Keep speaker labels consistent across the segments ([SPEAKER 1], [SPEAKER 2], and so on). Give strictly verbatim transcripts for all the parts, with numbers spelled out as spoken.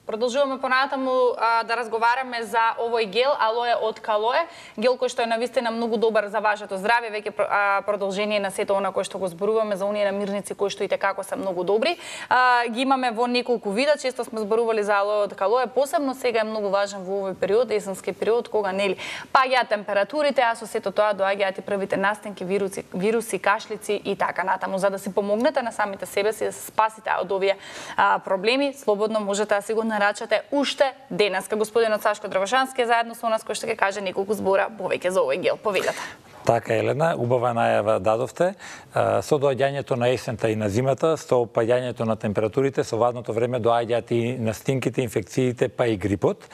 [SPEAKER 1] Продолжуваме понатаму а, да разговараме за овој гел алоe од Калоe, гел кој што е навистина многу добар за вашето здравје, веќе а, продолжение на сето она кој што го зборуваме за оние намирници кои што и како се многу добри. А, ги имаме во неколку вида, често сме зборували за алоe од Калоe, посебно сега е многу важен во овој период, есенски период, кога нели паѓаат температурите, а со сето тоа доаѓаат и првите настинки, вируси, вируси, кашлици и така натаму. За да си помогнете на самите себе си да се спасите од овие а, проблеми, слободно можете да си го нарачате уште денеска. Господинот Сашко Дравошански е заедно со нас, кој што ќе каже неколку збора повеќе за овој гел. Поведете.
[SPEAKER 2] Така, Елена, убава најава дадовте. Со доаѓањето на есента и на зимата, со паѓањето на температурите, со вадното време доаѓаат и настинките, инфекциите, па и грипот.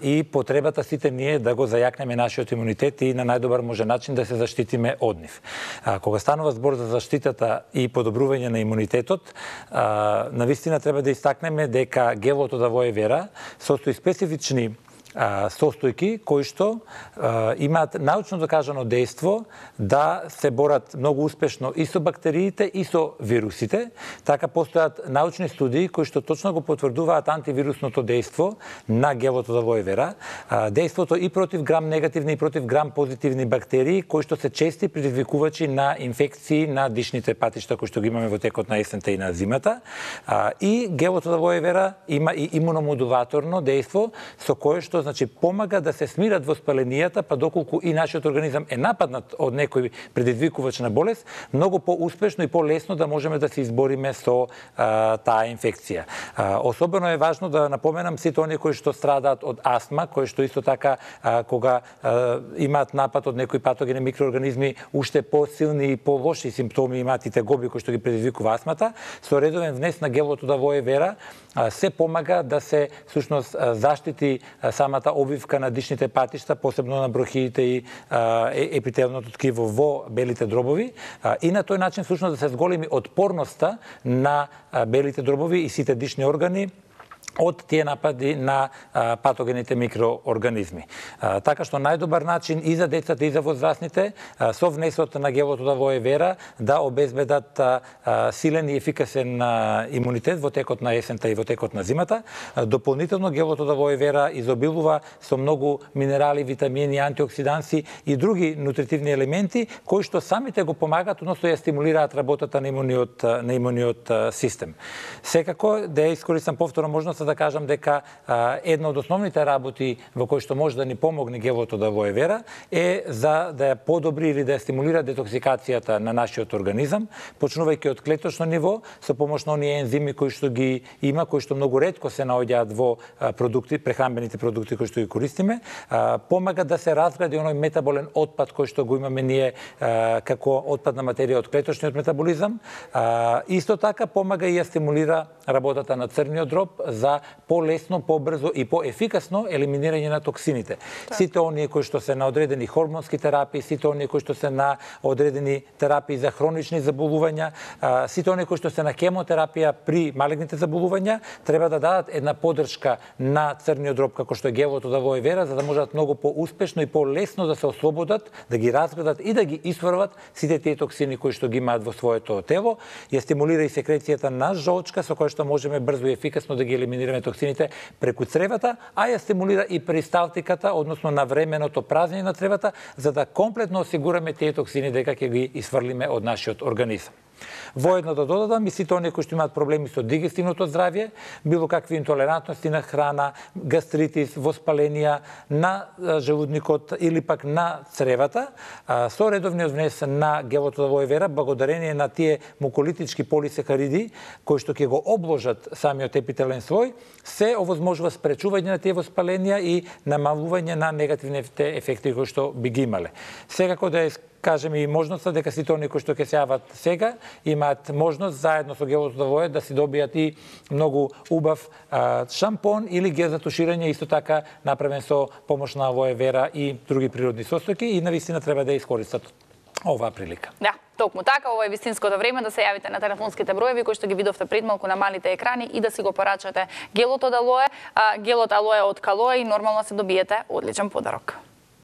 [SPEAKER 2] И потребата сите ние да го зајакнеме нашиот имунитет и на најдобар може начин да се заштитиме од нив. Кога станува збор за заштитата и подобрување на имунитетот, навистина треба да истакнеме дека гелот од алоe вера состои специфични состојки кои што а, имаат научно докажано дејство да се борат многу успешно и со бактериите и со вирусите. Така постојат научни студии кои што точно го потврдуваат антивирусното дејство на гелот од алоe вера, а, дејството и против грам негативни и против грам позитивни бактерии кои што се чести предизвикувачи на инфекции на дишните патишта кои што ги имаме во текот на есента и на зимата. А, и гелот од алоe вера има и имуномодулаторно дејство со кое што значи помага да се смират воспаленијата, па доколку и нашиот организам е нападнат од некој предизвикувач на болест, многу по-успешно и по-лесно да можеме да се избориме со а, таа инфекција. А, особено е важно да напоменам сите оние кои што страдаат од астма, кои што исто така а, кога а, имаат напад од некои патогени микроорганизми, уште по-силни и по-лоши симптоми имаат и тегоби кои што ги предизвикува астмата, со редовен внес на гелот од алоe вера а, се помага да се всушност заштити а, самата обвивка на дишните патишта, посебно на брохиите и а, епителното ткиво во белите дробови, а, и на тој начин всушност да се зголеми отпорноста на а, белите дробови и сите дишни органи од тие напади на а, патогените микроорганизми. А, така што најдобар начин и за децата и за возрастните а, со внесот на гелот од алоe вера да обезбедат а, а, силен и ефикасен а, имунитет во текот на есента и во текот на зимата. А, дополнително гелот од алоe вера изобилува со многу минерали, витамини, антиоксиданси и други нутритивни елементи кои што самите го помагаат, односно ја стимулираат работата на имуниот на имуниот систем. Секако да ја искористам повторно можност да кажам дека а, една од основните работи во кои што може да ни помогне гелот од алоe вера е за да ја подобри или да ја стимулира детоксикацијата на нашиот организам, почнувајќи од клеточно ниво со помош на оние ензими кои што ги има, кои што многу ретко се наоѓаат во а, продукти, прехранбените продукти кои што ги користиме, а, помага да се разгради оној метаболен отпад кој што го имаме ние а, како отпадна материја од клеточниот метаболизам. А, исто така помага и ја стимулира работата на црниот дроб за по-лесно, побрзо и по-ефикасно елиминирање на токсините. Так. Сите оние кои што се на одредени хормонски терапии, сите оние кои што се на одредени терапии за хронични заболувања, сите оние кои што се на хемотерапија при малигните заболувања, треба да дадат една поддршка на црниот дроб како што е гелот од алоe вера, за да можат многу по-успешно и по-лесно да се ослободат, да ги разградат и да ги исфрват сите тие токсини кои што ги имаат во своето тело. Ја стимулира и секрецијата на жолчка со која што можеме брзо и ефикасно да ги елиминираме токсините преку цревата, а ја стимулира и перисталтиката, односно навременото празнење на цревата, за да комплетно осигураме тие токсини дека ќе ги исфрлиме од нашиот организам. Воедно да додадам и сите оние кои што имаат проблеми со дигестивното здравје, било какви интолерантности на храна, гастритис, воспаленија на желудникот или пак на цревата, со редовниот внес на гелот од алоe вера, благодарение на тие муколитички полисахариди кои што ќе го обложат самиот епителен слој, се овозможува спречување на тие воспаленија и намалување на негативните ефекти кои што би ги имале. Секако да е кажеме и можноста дека сите оние кои што ќе се јават сега имаат можност заедно со гелот од алоe да си добијат и многу убав а, шампон или гел за туширање исто така направен со помош на алоe вера и други природни состојки и навистина треба да ја искористат оваа прилика.
[SPEAKER 1] Да. Токму така, ова е вистинското време да се јавите на телефонските броеви кои што ги видовте пред малку на малите екрани и да си го порачате гелот од алоe, гелот алоe од Калоe и нормално се добиете одличен подарок.